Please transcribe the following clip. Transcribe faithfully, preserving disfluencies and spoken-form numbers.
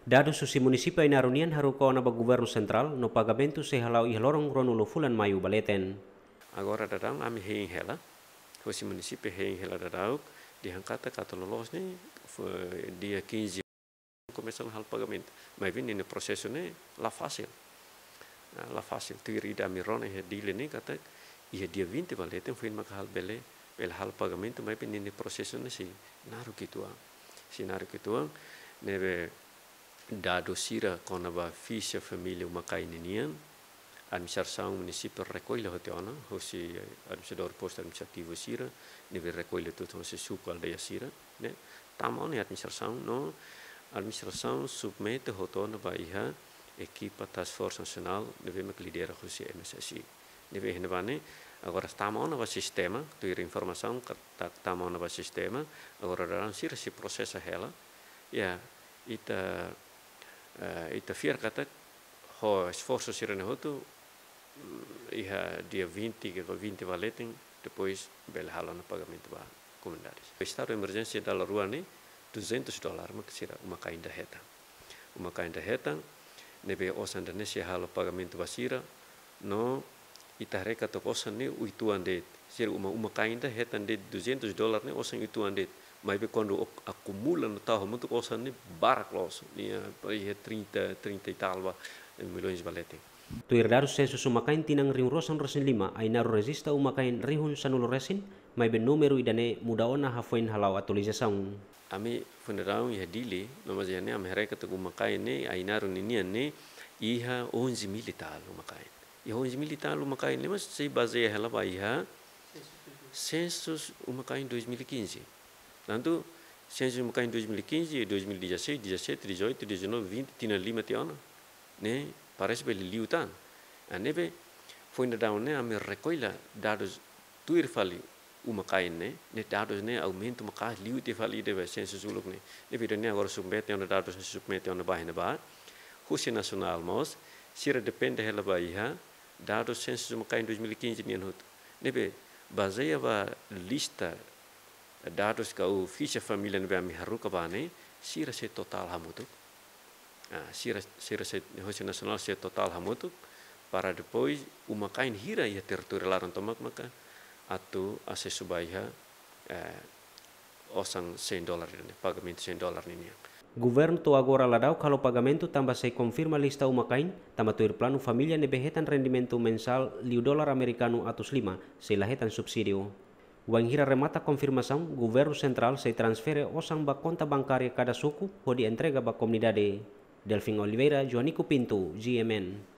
Dadus husi munisípiu Ainaro nian haruka ona ba governu sentrál no pagamentu sei hala'o iha loron ruanulu fulan Maiu ba leten. Agora daudaun ami hein hela, husi munisípiu hein hela daudaun, dehan katak atu loloos ne'e, fo-, dia quinze komesa halo pagamentu. Maibé ninia prosesu ne'e la fasil. Ah, la fasil. Tuir ida ami rona iha Dili ne'e katak iha dia vinte ba leten foin maka halo bele, bele halo pagamentu, maibé ninia prosesu ne'e sei naruk uitoan. Sei naruk uitoan, ne'ebé dadus sira kona-ba fixa família uma-kain ninian, administrasaun munisípiu rekolla hotu ona, husi administradór postu administrativu sira, ne'ebé rekolla hotu husi suku aldeia sira, ne'e tama ona iha administrasaun, no administrasaun submete hotu ona ba iha ekipa Task Force Nasionál, ne'ebé mak lidera husi M S S I. Ne'ebé iha ne'ebá ne'e, agora tama ona ba sistema, tuir informasaun katak tama ona ba sistema, agora daudaun sira sei prosesa hela, ya, ita, eh, ita fiar katak ho esforsu sira-ne'e hotu, mm, iha dia vinte ka vinte ba leten, depois bele halo ona pagamentu ba komunidade. Estadu emerjénsia dala rua ne'e, duzentos dólar mak sira uma-kain ida hetan. Uma-kain ida hetan, ne'ebé osan ida-ne'e sei halo pagamentu ba sira, no ita haree katak osan ne'e uitoan de'it. Sira uma, uma-kain ida hetan de'it duzentos dólar ne'e osan uitoan de'it. Maibé kuandu ok-, akumula no tau hamutuk osan ne'e barak loos. Ne'e, ah, iha trinta, trinta e tal ba, eh, milhões ba leten. Tuir dadus sensus uma-kain tinan rihun rua sanulu resin lima, Ainaro rejista uma-kain rihun sanulu resin, maibé númeru ida-ne'e muda ona hafoin hala'o atualizasaun. Ami foin daudaun iha Dili, no mas iha ne'e ami haree katak uma-kain ne'e, Ainaro ninian ne'e, iha onze mil e tal uma-kain. Iha onze mil e tal uma-kain ne'e, mas sei bazeia hela ba iha sensus uma-kain dois mil e quinze. Tantu, sensus uma-kain dois mil e quinze, dois mil e dezasseis, dezassete, dezoito, dezanove, vinte, tinan lima tiha ona. Ne'e, parese bele liu tan. Ah, ne'ebé, foin daudaun ne'e, ami rekolla dadus tuir fali uma-kain ne'e, ne'e dadus ne'e aumenta maka'as liu tiha fali ida ba sensus uluk ne'e. Ne'ebé ida-ne'e agora submete ona dadus ne'e submete ona ba iha ne'ebá. Husi nasionál mós, sira depende hela ba iha dadus sensus uma-kain dois mil e quinze nian hotu. Ne'ebé, bazeia ba lista dadus ka ou fixa família ne'ebé ami haruka ba ne'e, sira sei totál hamutuk. Ah, sira, sira sei, husi nasionál sei totál hamutuk, para depois uma-kain hira iha territóriu laran tomak maka atu asesu ba iha, eh, osan cem dólar ne'e, pagamentu cem dólar ninian. Governu to'o agora la daudaun halo pagamentu tanba sei konfirma lista uma-kain, tanba tuir planu família ne'ebé hetan rendimentu mensál liu dólar amerikanu atus lima, sei la hetan subsídiu. Wainhira remata konfirmasaun, governu sentrál sei transfere osan ba konta bankária kada suku, hodi entrega ba komunidade. Delfim Oliveira, Joanico Pinto, G M N.